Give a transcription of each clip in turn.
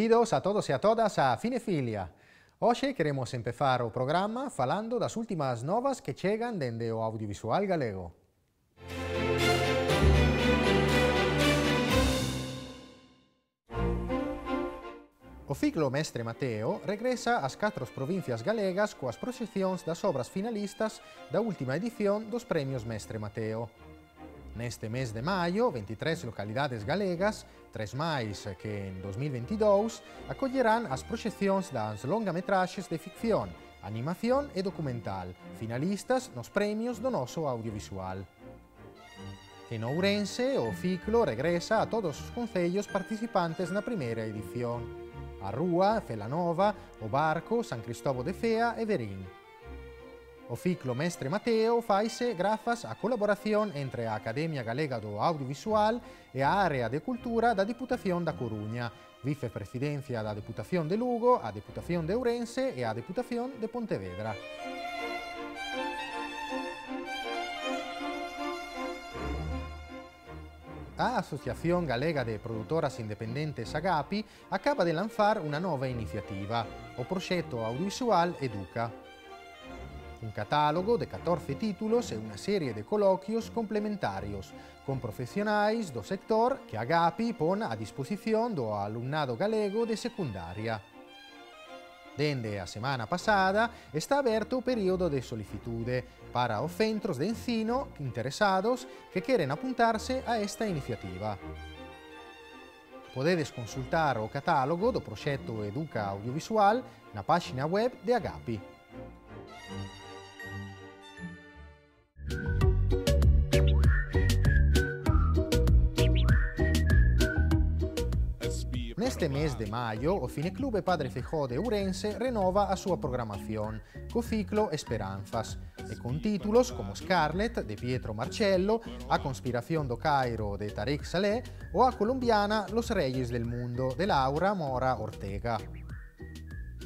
Benvidos a todos y a todas a Cinefilia. Hoxe queremos empezar o programa falando das últimas novas que chegan dende o audiovisual galego. O ciclo Mestre Mateo regresa ás 4 provincias galegas coas proxeccións das obras finalistas da última edición dos Premios Mestre Mateo. Neste mes de maio, 23 localidades galegas, 3 máis que en 2022, acollerán as proxeccións das longametraxes de ficción, animación e documental, finalistas nos premios do noso audiovisual. En Ourense, o ciclo regresa a todos os concellos participantes na primeira edición: a Rúa, Celanova, o Barco, San Cristóbal de Fea e Verín. O ciclo Mestre Mateo faise grazas á colaboración entre a Academia Galega do Audiovisual e a Área de Cultura da Diputación da Coruña, Vicepresidencia da Deputación de Lugo, a Deputación de Ourense e a Deputación de Pontevedra. A Asociación Galega de Produtoras Independentes Agapi acaba de lanzar unha nova iniciativa, o proxecto audiovisual Educa. Un catálogo de 14 títulos e unha serie de coloquios complementarios con profesionais do sector que Agapi pon a disposición do alumnado galego de secundaria. Dende a semana pasada está aberto o período de solicitude para os centros de ensino interesados que queren apuntarse a esta iniciativa. Podedes consultar o catálogo do proxecto Educa Audiovisual na páxina web de Agapi. Neste mes de maio, o Cineclube Padre Feijó de Ourense renova a súa programación co ciclo Esperanzas e con títulos como Scarlet, de Pietro Marcello, A Conspiración do Cairo, de Tarek Saleh ou a colombiana Los Reyes del Mundo, de Laura Mora Ortega.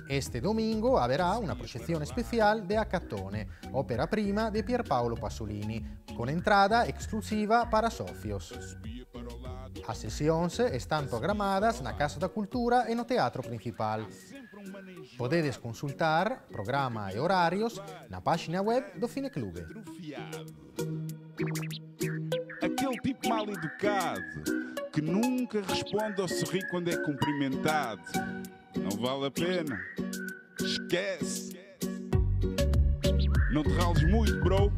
Este domingo haberá una proxección especial de Acatone, ópera prima de Pierpaolo Pasolini, con entrada exclusiva para socios. As sesións están programadas na Casa da Cultura e no Teatro Principal. Podedes consultar programa e horarios na páxina web do Cineclube. Aquele tipo mal educado que nunca responde ao sorrir quando é cumprimentado. Não vale a pena. Esquece. Não te rales muito, bro.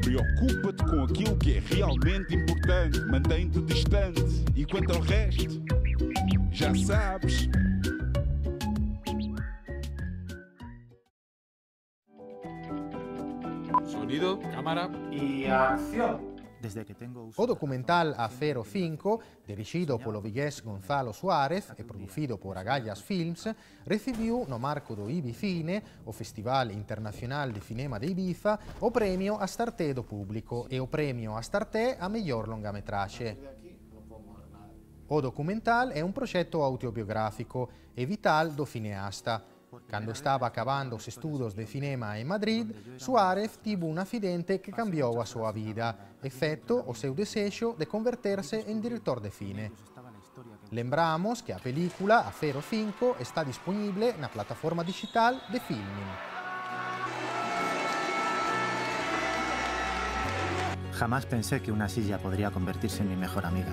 Preocupa-te com aquilo que é realmente importante. Mantém-te distante. E quanto ao resto, já sabes. Sonido, cámara y acción. O documental Acero 5, dirixido polo vigués Gonzalo Suárez e producido por Agallas Films, recibiu no marco do Ibicine, o Festival Internacional de Cinema de Ibiza, o premio Astarté do público e o premio Astarté a mellor longametraxe. O documental é un proxecto autobiográfico e vital do cineasta. Cando estaba acabando os estudos de cinema en Madrid, Suárez tivo un accidente que cambiou a súa vida, excepto o seu desexo de converterse en director de cine. Lembramos que a película Acero 5 está disponible na plataforma digital de Filmin. Jamás pensé que una silla podría convertirse en mi mejor amiga.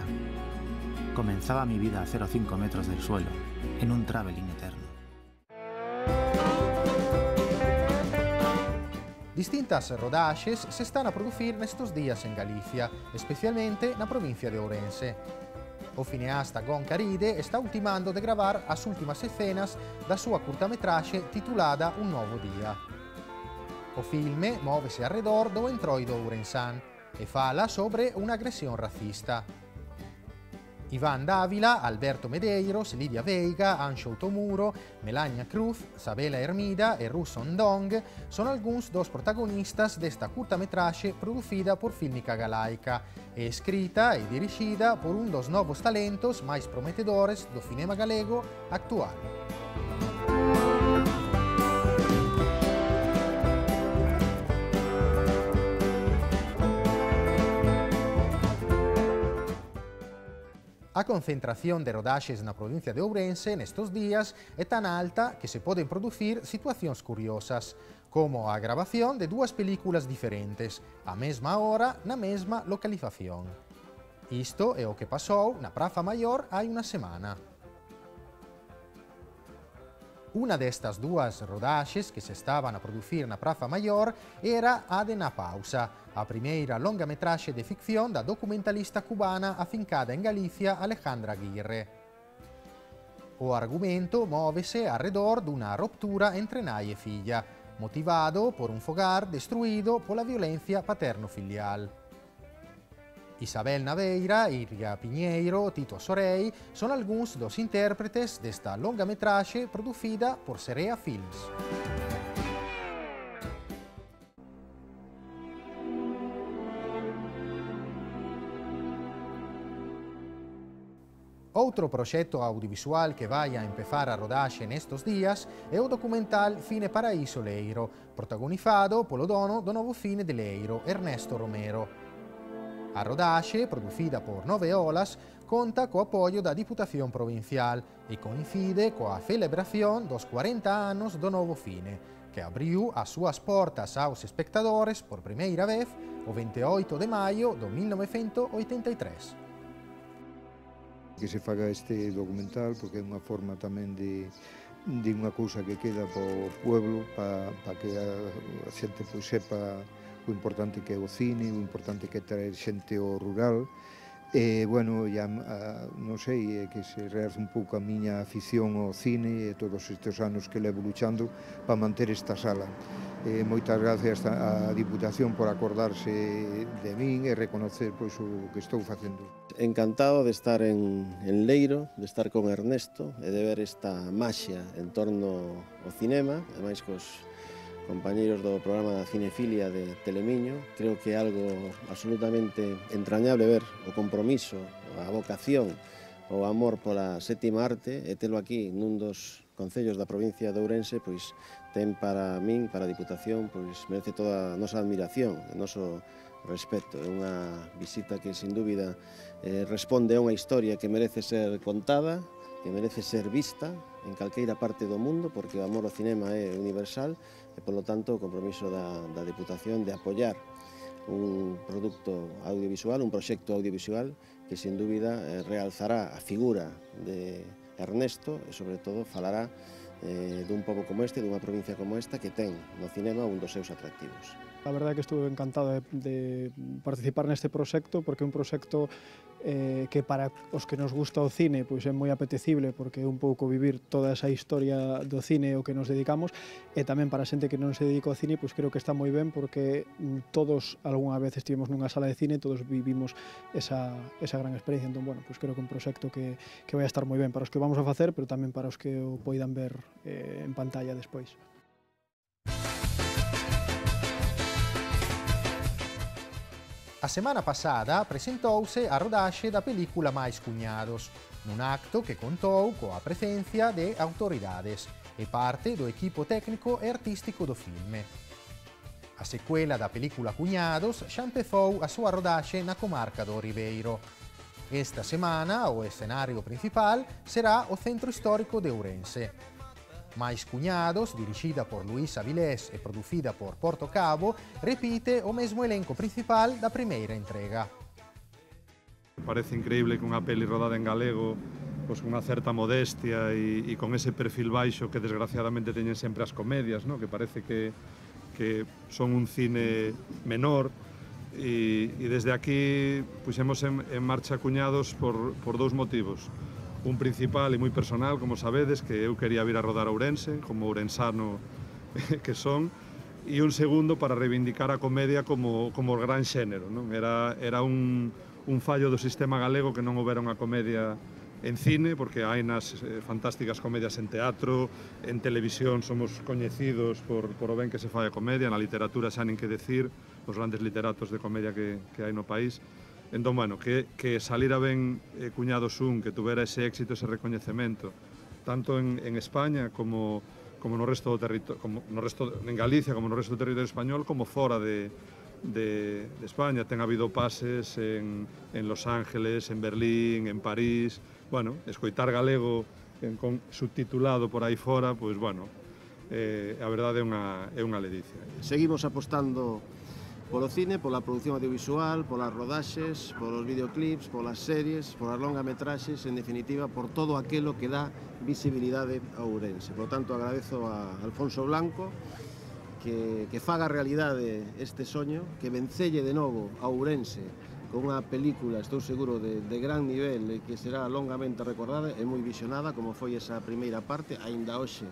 Comenzaba mi vida a 0,5 metros del suelo, en un traveling eterno. Distintas rodaxes se están a producir nestos días en Galicia, especialmente na provincia de Ourense. O cineasta Gon Caride está ultimando de gravar as últimas escenas da súa curtametraxe titulada Un novo día. O filme móvese arredor do entroido ourensán e fala sobre unha agresión racista. Iván Dávila, Alberto Medeiros, Lidia Veiga, Anxo Tomuro, Melania Cruz, Sabela Hermida e Russo Ndong son algúns dos protagonistas desta curtametraxe producida por Fílmica Galaica e escrita e dirixida por un dos novos talentos máis prometedores do cinema galego actual. A concentración de rodaxes na provincia de Ourense nestos días é tan alta que se poden producir situacións curiosas, como a gravación de dúas películas diferentes, á mesma hora, na mesma localización. Isto é o que pasou na Praza Maior hai unha semana. Una destas dúas rodaxes que se estaban a producir na Praza Maior era a de Na Pausa, a primeira longametraxe de ficción da documentalista cubana afincada en Galicia Alejandra Aguirre. O argumento móvese arredor dunha ruptura entre nai e filla, motivado por un fogar destruído pola violencia paterno-filial. Isabel Naveira, Iria Piñeiro, Tito Sorei son algúns dos intérpretes desta longametraxe producida por Serea Films. Outro proxecto audiovisual que vai a empezar a rodaxe nestos días é o documental Fine Paraíso Leiro, protagonizado polo dono do novo cine de Leiro, Ernesto Romero. A rodaxe, producida por Nove Olas, conta co apoio da Diputación Provincial e coincide coa celebración dos 40 anos do novo cine, que abriu as súas portas aos espectadores por primeira vez o 28 de maio do 1983. Que se faga este documental porque é unha forma tamén de unha cousa que queda para o pueblo, para que a xente sepa o importante que é o cine, o importante que é traer xente ao rural. E, bueno, ya, non sei, que se realce un pouco a miña afición ao cine e todos estes anos que levo luchando para manter esta sala. Moitas gracias á Diputación por acordarse de min e reconocer pois, o que estou facendo. Encantado de estar en Leiro, de estar con Ernesto e de ver esta maxia en torno ao cinema, ademais cos compañeiros do programa da Cinefilia de Telemiño. Creo que é algo absolutamente entrañable ver o compromiso, a vocación, o amor pola sétima arte e telo aquí nun dos concellos da provincia de Ourense, pois ten para min, para a Diputación, pois merece toda a nosa admiración, o noso respeto. É unha visita que, sin dúbida, responde a unha historia que merece ser contada, que merece ser vista en calqueira parte do mundo, porque o amor ao cinema é universal e, polo tanto, o compromiso da Diputación de apoiar un produto audiovisual, un proxecto audiovisual que, sin dúbida, realzará a figura de Ernesto e, sobre todo, falará dun pobo como este, dunha provincia como esta, que ten no cinema un dos seus atractivos. A verdade é que estuve encantado de participar neste proxecto, porque é un proxecto que para os que nos gusta o cine pois é moi apetecible, porque é un pouco vivir toda esa historia do cine ao que nos dedicamos, e tamén para a xente que non se dedica ao cine, pois creo que está moi ben, porque todos algunha vez estivemos nunha sala de cine, todos vivimos esa gran experiencia. Entón, bueno, pois creo que é un proxecto que vai a estar moi ben para os que vamos a facer, pero tamén para os que o poidan ver en pantalla despois. A semana pasada presentouse a rodaxe da película Mais Cuñados, nun acto que contou coa presencia de autoridades e parte do equipo técnico e artístico do filme. A secuela da película Cuñados xa empezou a súa rodaxe na comarca do Ribeiro. Esta semana o escenario principal será o Centro Histórico de Ourense. Mais Cuñados, dirixida por Luís Avilés e producida por Porto Cabo, repite o mesmo elenco principal da primeira entrega. Parece increíble que unha peli rodada en galego, pois con unha certa modestia e con ese perfil baixo que desgraciadamente teñen sempre as comedias, ¿no? Que parece que son un cine menor, e desde aquí puxemos en marcha Cuñados por dous motivos. Un principal e moi personal, como sabedes, que eu quería vir a rodar a Ourense, como ourensano que son, e un segundo para reivindicar a comedia como gran xénero, non? Era un fallo do sistema galego que non houbera unha comedia en cine, porque hai nas fantásticas comedias en teatro, en televisión somos coñecidos por o ben que se fai a comedia, na literatura xa nin que decir, os grandes literatos de comedia que hai no país. Entón, bueno, que salira ben Cuñados 1, que tuvera ese éxito, ese recoñecemento, tanto en España como no resto do territorio, en Galicia, como no resto do territorio español, como fora de España. Ten habido pases en Los Ángeles, en Berlín, en París. Bueno, escoitar galego con subtitulado por aí fora, pois, bueno, a verdade é unha ledicia. Seguimos apostando polo cine, pola produción audiovisual, polas rodaxes, polos videoclips, polas series, polas longametraxes, en definitiva, por todo aquilo que dá visibilidade a Ourense. Por tanto, agradezo a Alfonso Blanco que faga realidade este soño, que vencelle de novo a Ourense con unha película, estou seguro, de gran nivel e que será longamente recordada e moi visionada, como foi esa primeira parte, aínda hoxe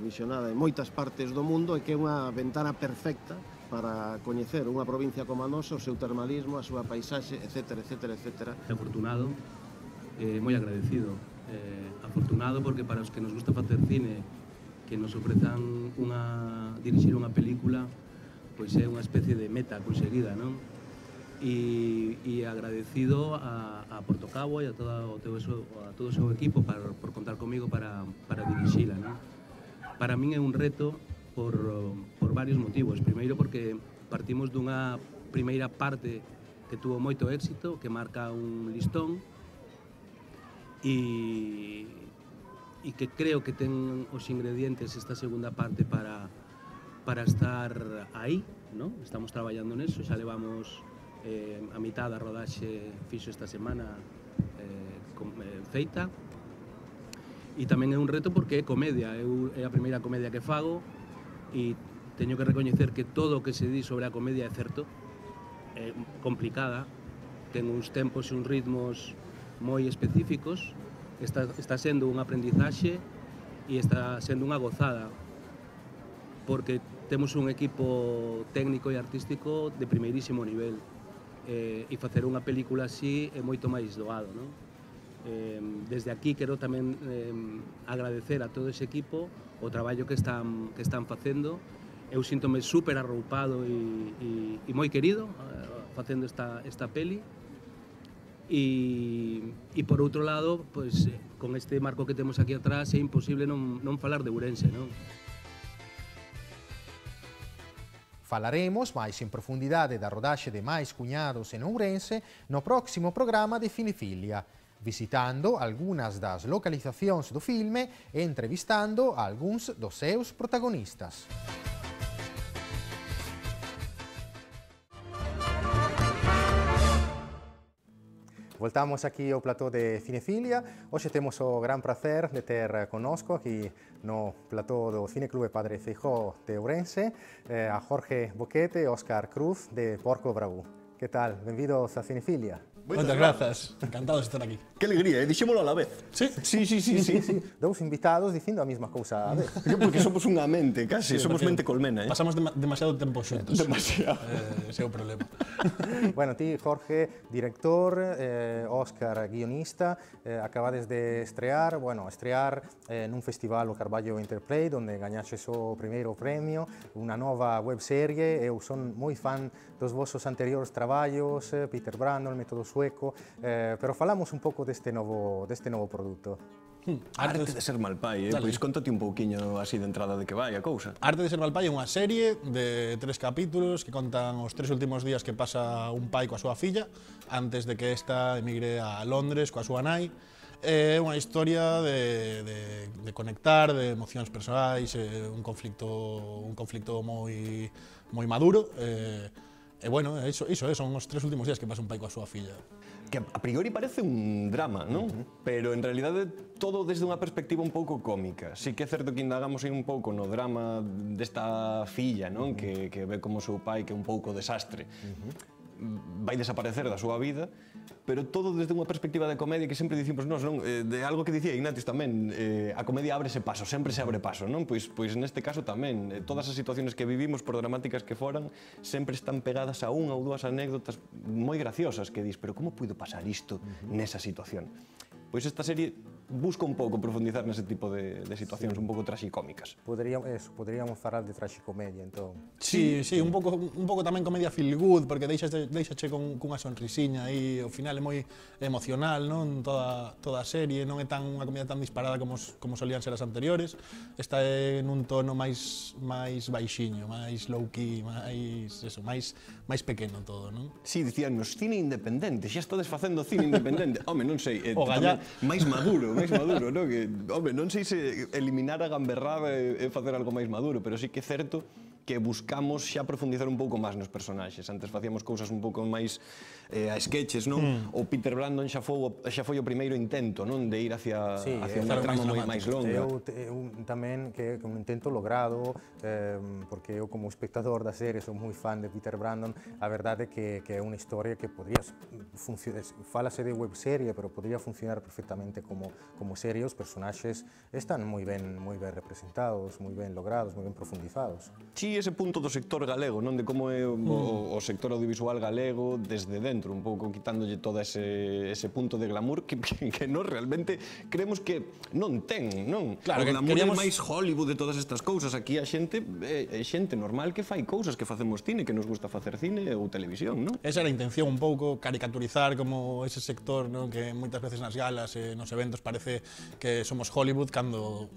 visionada en moitas partes do mundo, e que é unha ventana perfecta para coñecer unha provincia como a nosa, o seu termalismo, a súa paisaxe, etcétera, etcétera, etcétera. Afortunado, moi agradecido. Afortunado porque para os que nos gusta facer cine, que nos ofrezan dirixir unha película, pois é unha especie de meta conseguida, non? E agradecido a Portocabo e a todo o seu equipo por contar comigo para dirixila, non? Para min é un reto por varios motivos. Primeiro porque partimos dunha primeira parte que tuvo moito éxito, que marca un listón, e que creo que ten os ingredientes esta segunda parte para estar aí, non? Estamos traballando neso, xa levamos a mitad da rodaxe fixo esta semana feita, e tamén é un reto porque é comedia, é a primeira comedia que fago e teño que recoñecer que todo o que se di sobre a comedia é certo, é complicada, ten uns tempos e uns ritmos moi específicos, está sendo un aprendizaxe e está sendo unha gozada, porque temos un equipo técnico e artístico de primeirísimo nivel. E facer unha película así é moito máis doado, non? Desde aquí quero tamén agradecer a todo ese equipo o traballo que están facendo. Eu síntome super arroupado e moi querido facendo esta peli, e por outro lado, pois, con este marco que temos aquí atrás é imposible non falar de Ourense, non? Falaremos máis en profundidade da rodaxe de Mais Cuñados en Ourense no próximo programa de Cinefilia, visitando algunhas das localizacións do filme e entrevistando a algúns dos seus protagonistas. Voltamos aquí ao plató de Cinefilia. Hoxe temos o gran placer de ter connosco aquí no plató do Cineclube Padre Feijóo de Ourense a Jorge Boquete e Óscar Cruz de Porco Bravú. Que tal? Benvidos a Cinefilia. Moitas grazas, encantado de estar aquí. Que alegría, dixémolo a la vez. Sí? Sí. Dous invitados dicindo a mesma cousa a vez. Porque somos unha mente, casi, somos mente colmena. Pasamos demasiado tempo xuntos. Demasiado. Ese é o problema. Bueno, ti, Jorge, director, Óscar, guionista, acabades de estrear nun festival o Carballo Interplay, donde gañaxes o primeiro premio, unha nova webserie. Eu son moi fan dos vosos anteriores traballos, Peter Brandon, Método Sueco, pero falamos un pouco deste novo produto. Arte de ser mal pai, pois contate un pouquiño así de entrada de que vai a cousa. Arte de ser mal pai é unha serie de 3 capítulos que contan os 3 últimos días que pasa un pai coa súa filla antes de que esta emigre a Londres coa súa nai. É unha historia de conectar, de emocións persoais, un conflicto moi maduro. E bueno, iso son os 3 últimos días que pasa un pai coa súa filla. Que a priori parece un drama, non? Pero en realidade todo desde unha perspectiva un pouco cómica. Sí que é certo que indagamos aí un pouco no drama desta filla, non? Que ve como o seu pai que é un pouco desastre. Vai desaparecer da súa vida, pero todo desde unha perspectiva de comedia que sempre dicimos nós, non? De algo que dicía Ignatius tamén, a comedia ábrese paso, sempre se abre paso, non? Pois neste caso tamén, todas as situacións que vivimos, por dramáticas que foran, sempre están pegadas a unha ou dúas anécdotas moi graciosas que dis, pero como puido pasar isto nesa situación? Pois esta serie busca un pouco profundizar nese tipo de situacións un pouco traxicómicas. Poderíamos falar de traxicomedia, entón. Sí, un pouco tamén comedia feel good, porque deixache cunha sonrisiña aí, ao final é moi emocional, non? Toda a serie, non é unha comedia tan disparada como solían ser as anteriores, está en un tono máis baixiño, máis low-key, máis pequeno todo, non? Sí, dicíanos, cine independente, xa estades facendo cine independente. Home, non sei, O Gallá... máis maduro, non? Que, home, non sei se eliminar a gamberrada e facer algo máis maduro, pero sí que é certo que buscamos xa profundizar un pouco máis nos personaxes. Antes facíamos cousas un pouco máis a sketches, non? O Peter Brandon xa foi o primeiro intento, non? De ir hacia unha trama máis longa. Tamén que é un intento logrado, porque eu como espectador da serie son moi fan de Peter Brandon. A verdade é que é unha historia que podría funcionar, fálase de webserie, pero podría funcionar perfectamente como serie. Os personaxes están moi ben representados, moi ben logrados, moi ben profundizados. Sí, ese punto do sector galego, non? De como é o sector audiovisual galego desde dentro, un pouco quitándolle todo ese punto de glamour que nós realmente creemos que non ten, non? Claro, o glamour é máis Hollywood de todas estas cousas. Aquí a xente é xente normal que fai cousas, que facemos cine, que nos gusta facer cine ou televisión, non? Esa era a intención, un pouco caricaturizar como ese sector, non? Que moitas veces nas galas e nos eventos parece que somos Hollywood cando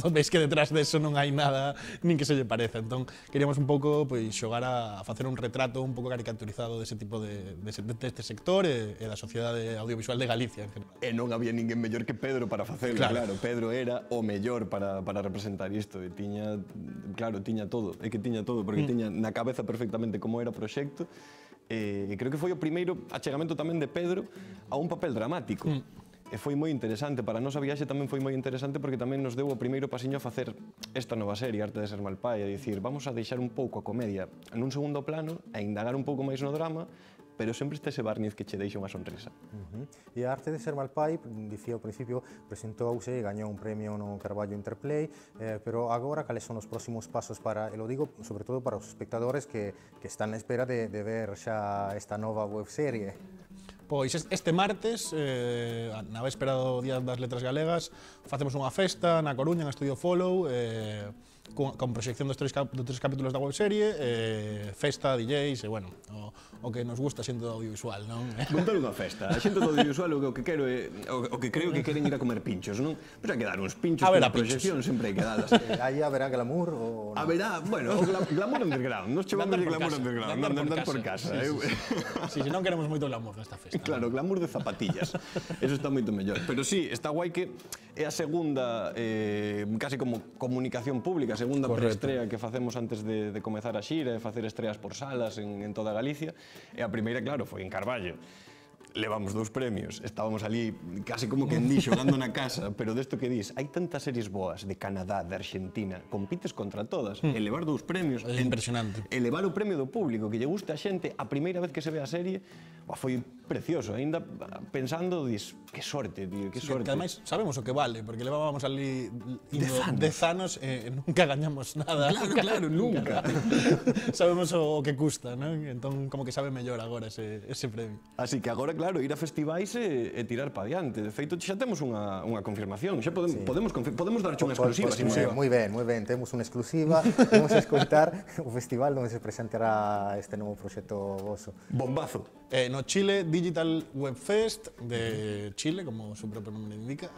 ves que detrás deso non hai nada nin que se lle pareza. Entón, queríamos un pouco xogar a facer un retrato un pouco caricaturizado dese tipo deste sector e da sociedade audiovisual de Galicia en general. E non había ninguén mellor que Pedro para facelo, claro. Pedro era o mellor para representar isto e tiña todo, porque tiña na cabeza perfectamente como era o proxecto e creo que foi o primeiro achegamento tamén de Pedro a un papel dramático. E foi moi interesante, para nós a viaxe tamén foi moi interesante porque tamén nos deu o primeiro pasiño a facer esta nova serie, Arte de ser mal pai, a dicir, vamos a deixar un pouco a comedia nun segundo plano e indagar un pouco máis no drama, pero sempre este ese barniz que che deixa unha sonrisa. E a Arte de ser mal pai, dicía ao principio, presentouse e gañou un premio no Carballo Interplay, pero agora cales son os próximos pasos para, e lo digo sobre todo para os espectadores que están na espera de ver xa esta nova webserie? Pois este martes, na véspera do Día das Letras Galegas, facemos unha festa na Coruña, en Estudio Follow, con proxección dos tres capítulos da webserie, festa, DJs, e, bueno, o que nos gusta xente do audiovisual, non? Montar unha festa. A xente do audiovisual o que creo que queren ir a comer pinchos, non? Pero hai que dar uns pinchos con a proxección, sempre hai que dalas. Aí haberá glamour ou non? Haberá, bueno, glamour underground. Nos chamamos de glamour underground, non andar por casa. Si, non queremos moito glamour nesta festa. Claro, glamour de zapatillas. Eso está moito mellor. Pero sí, está guai que é a segunda, casi como comunicación pública, a segunda preestrea que facemos antes de comezar a xira e facer estreas por salas en toda Galicia. E a primeira, claro, foi en Carballo. Levamos 2 premios, estábamos ali casi como que en di xogando na casa, pero desto que dis, hai tantas series boas de Canadá, de Argentina, compites contra todas, elevar 2 premios, é impresionante. Elevar o premio do público, que lle guste a xente, a primeira vez que se ve a serie, foi precioso, ainda pensando, dis, que sorte, tío, que sorte. Que ademais sabemos o que vale, porque levábamos ali 10 anos e nunca gañamos nada. Claro, nunca. Sabemos o que custa, non? Entón, como que sabe mellor agora ese premio. Así que agora, claro, ir a festivais e tirar pa diante. De feito, xa temos unha confirmación. Xa podemos darche unha exclusiva. Moi ben, temos unha exclusiva. Vamos a escoitar o festival onde se presentará este novo proxecto voso. Bombazo. No Chile Digital Web Fest de Chile, como o seu propio nome indica.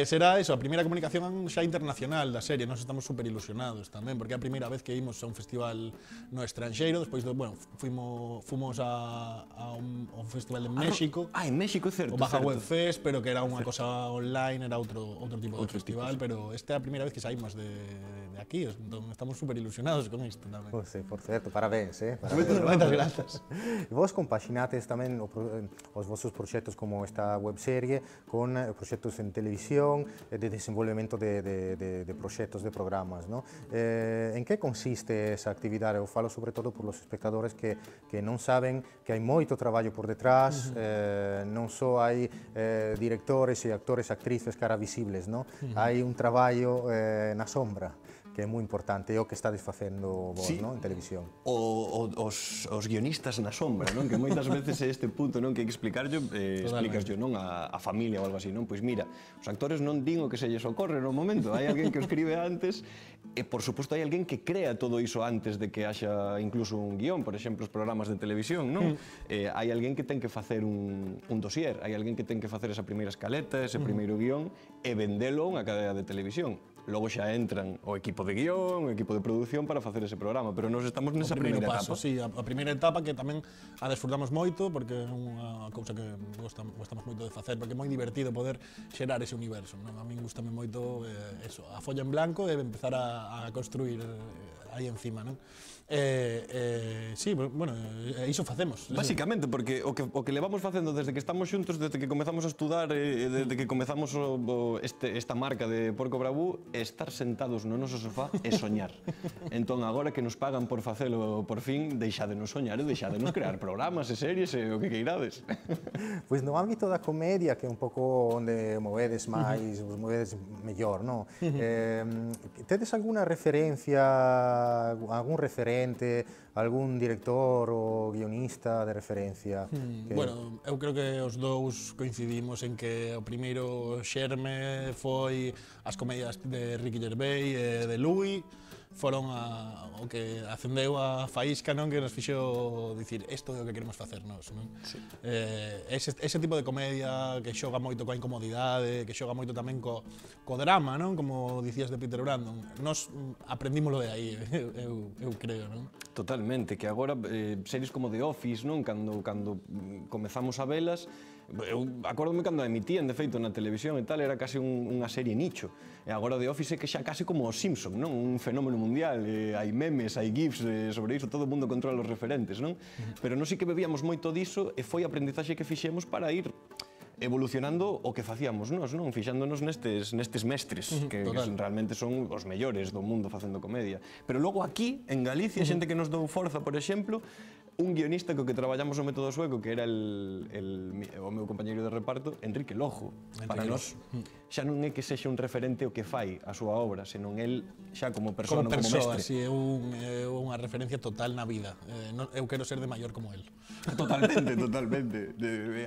Será eso, a primeira comunicación xa internacional da serie. Nós estamos super ilusionados tamén, porque é a primeira vez que imos a un festival no estranxeiro. Despois, fomos a un festival en México. En México, é certo. O Baja Web Fest, pero que era unha cosa online, era outro tipo de festival, pero esta é a primeira vez que saímos de aquí, entón estamos super ilusionados con isto tamén. Por certo, parabéns, Moitas grazas. E vos compaxinates tamén os vosos proxectos como esta webserie con proxectos en televisión, de desenvolvemento de proxectos, de programas, non? En que consiste esa actividade? Eu falo sobre todo por los espectadores que non saben que hai moito traballo por detrás, non só hai directores e actores, actrices cara visibles, non? Hai un traballo na sombra, que que é moi importante, é o que estades facendo vos, non, en televisión. Os guionistas na sombra, non? Que moitas veces é este punto, non? Que hai que explicarlo, explícaslo, non? A familia ou algo así, non? Pois mira, os actores non din o que se lles ocorre no momento, hai alguén que o escribe antes e, por suposto, hai alguén que crea todo iso antes de que haxa incluso un guión, por exemplo, os programas de televisión, non? Hai alguén que ten que facer un dossier, hai alguén que ten que facer esa primeira escaleta, ese primeiro guión e vendelo a unha cadea de televisión. Logo xa entran o equipo de guión, o equipo de produción para facer ese programa, pero nós estamos nesa primeira etapa. Sí, a primeira etapa que tamén a desfrutamos moito porque é unha cousa que gostamos moito de facer, porque é moi divertido poder xerar ese universo, non? A min gustame moito eso, a folla en blanco e empezar a construir aí encima, non? Sí, bueno, iso facemos. Básicamente, porque o que levamos facendo desde que estamos xuntos, desde que comezamos a estudar, desde que comezamos esta marca de Porco Bravú, é estar sentados no noso sofá e soñar. Entón, agora que nos pagan por facelo por fin, deixádenos soñar e deixádenos crear programas e series e o que queirades. Pois no ámbito da comedia, que é un pouco onde movedes máis, vos movedes mellor, non? Tedes alguna referencia, algún referente, algún director ou guionista de referencia? Bueno, eu creo que os dous coincidimos en que o primeiro xerme foi as comedias de Ricky Gervais e de Louis, foron o que acendeu a faísca, non, que nos fixo dicir isto é o que queremos facer nós, non? Sí. Ese tipo de comedia que xoga moito coa incomodidade, que xoga moito tamén co drama, non? Como dicías de Peter Brandon, nós aprendímolo de aí, eu creo, non? Totalmente, que agora series como The Office, non? Cando comezamos a velas, eu acórdome cando a emitían, de feito, na televisión e tal, era casi unha serie nicho. E agora The Office é que xa casi como os Simpson, non? Un fenómeno mundial, hai memes, hai gifs sobre iso, todo o mundo controla os referentes, non? Pero non sí que bebíamos moito diso e foi a aprendizaxe que fixemos para ir evolucionando o que facíamos nós, non? Fixándonos nestes mestres, que realmente son os mellores do mundo facendo comedia. Pero logo aquí, en Galicia, xente que nos dou forza, por exemplo, un guionista co que traballamos o método sueco, que era o meu compañeiro de reparto, Enrique Lojo. Para nós, xa non é que sexa un referente o que fai a súa obra, senón el xa como persona, como mestre. Sí, é unha referencia total na vida. Eu quero ser de maior como el. Totalmente, totalmente.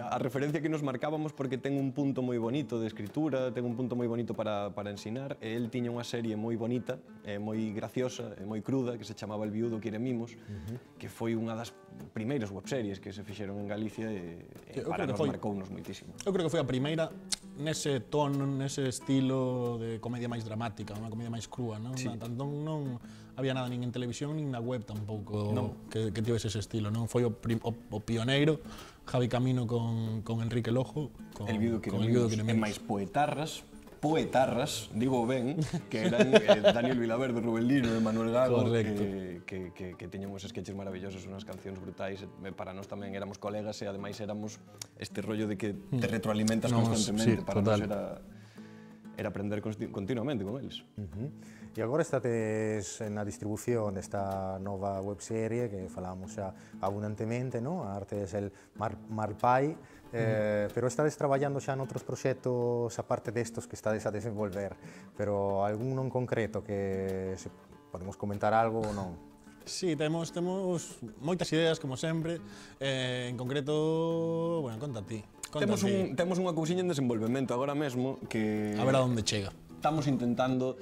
A referencia que nos marcábamos porque ten un punto moi bonito de escritura, ten un punto moi bonito para ensinar, e el tiña unha serie moi bonita, moi graciosa, moi cruda, que se chamaba El viudo quiere mimos, que foi unha das primeiras webseries que se fixeron en Galicia e para nos marcounos moitísimo. Eu creo que foi a primeira nese tono, nese estilo de comedia máis dramática, unha comedia máis crúa, non? Non había nada nin en televisión nin na web tampouco que tivese ese estilo, non? Foi o pioneiro, Javi Camino con Enrique Lojo, El viudo quiere mimos, e máis poetarras, digo ben, que eran Daniel Vilaverde, Rubén Lino e Manuel Gago, que tiñan uns sketches maravillosos, unhas cancións brutais, para nós tamén éramos colegas e ademais éramos este rollo de que te retroalimentas constantemente, para nós era aprender continuamente con eles. E agora estades na distribución desta nova webserie que falábamos xa abundantemente, non? A arte é el Malpai, pero estades traballando xa noutros proxectos aparte destos que estades a desenvolver, pero algún en concreto que podemos comentar algo ou non? Sí, temos moitas ideas, como sempre, en concreto, bueno, conta ti. Temos unha cousiña en desenvolvemento agora mesmo que... A ver a onde chega. Estamos intentando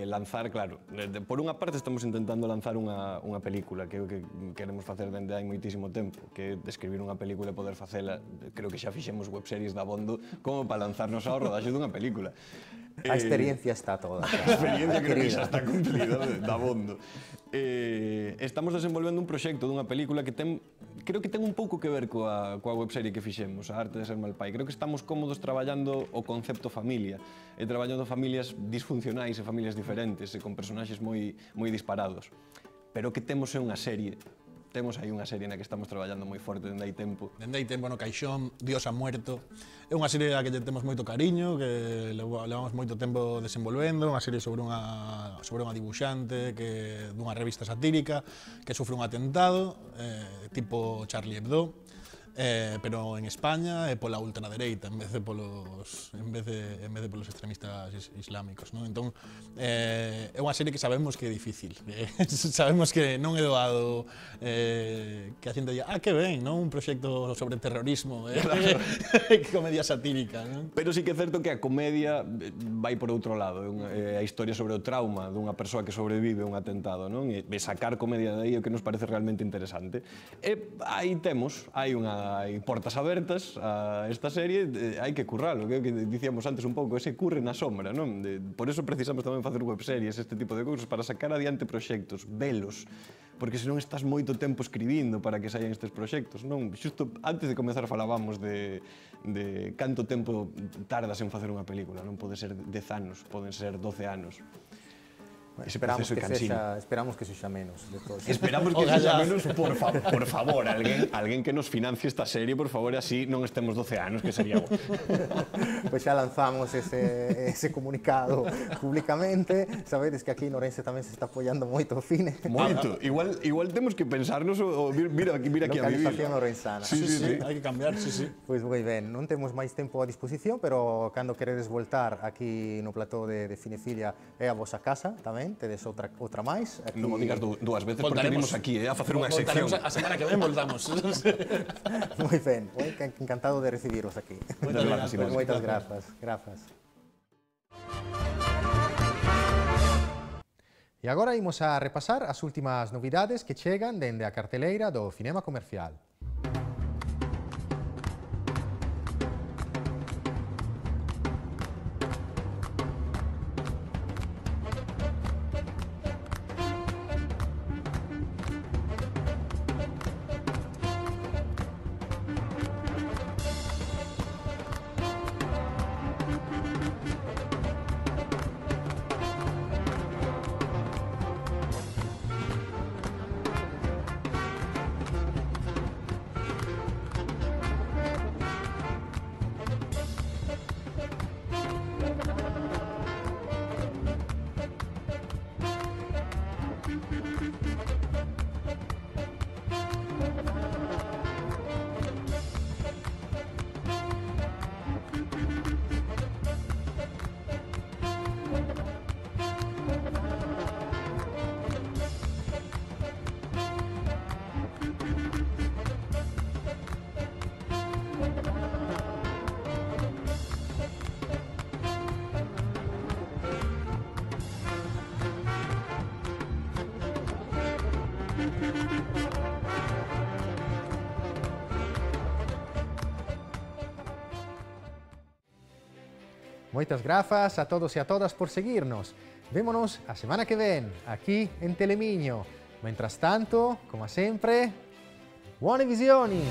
lanzar, claro, por unha parte estamos intentando lanzar unha película que é o que queremos facer dende hai moitísimo tempo, que é describir unha película e poder facela, creo que xa fixemos webseries da Bondo como para lanzarnos ao rodaxe dunha película. A experiencia está toda. A experiencia creo que xa está cumplida da Bondo. Estamos desenvolvendo un proxecto dunha película que creo que ten un pouco que ver coa webserie que fixemos, A arte de ser Malpai. Creo que estamos cómodos traballando o concepto familia, e traballando familias disfuncionais e familias diferentes, e con personaxes moi disparados. Pero que temos é unha serie. Temos aí unha serie na que estamos traballando moi forte dende hai tempo. Dende hai tempo no Caixón, Dios ha muerto. É unha serie a que temos moito cariño, que levamos moito tempo desenvolvendo, unha serie sobre unha dibuixante dunha revista satírica que sufre un atentado, tipo Charlie Hebdo. pero en España é pola ultradereita en vez de polos extremistas islámicos, non? Entón, é unha serie que sabemos que é difícil, sabemos que non é doado que a xente diga, que ben, non? Un proxecto sobre terrorismo, comedia satírica, non? Pero sí que é certo que a comedia vai por outro lado, é a historia sobre o trauma dunha persoa que sobrevive a un atentado, non? E sacar comedia de aí é o que nos parece realmente interesante. E aí temos, hai portas abertas a esta serie, hai que curralo, que dicíamos antes un pouco, ese curre na sombra, non? Por eso precisamos tamén facer webseries, este tipo de cousas, para sacar adiante proxectos, velos, porque senón estás moito tempo escribindo para que saian estes proxectos, non? Xusto antes de comezar falábamos de canto tempo tardas en facer unha película, non pode ser 10 anos, poden ser 12 anos. Esperamos que sexa menos. Esperamos que sexa menos, por favor, alguén que nos financie esta serie, por favor, así non estemos 12 anos, que sería bo. Pois xa lanzamos ese comunicado públicamente. Sabedes que aquí en Ourense tamén se está apoiando moito o cine. Moito. Igual temos que pensarnos o vir aquí a vivir. Localización ourensana. Sí, hai que cambiar, sí. Pois moi ben, non temos máis tempo a disposición, pero cando queredes voltar aquí no plató de Cinefilia é a vosa casa tamén. Tedes outra máis. Non o digas dúas veces porque vimos aquí a facer unha sección. A semana que ven voltamos. Moi ben, encantado de recibiros aquí. Moitas grazas. E agora imos a repasar as últimas novidades que chegan dende a carteleira do cinema comercial. Moitas grazas a todos e a todas por seguirnos. Vémonos a semana que ven, aquí en Telemiño. Mentras tanto, como sempre, buone visioni!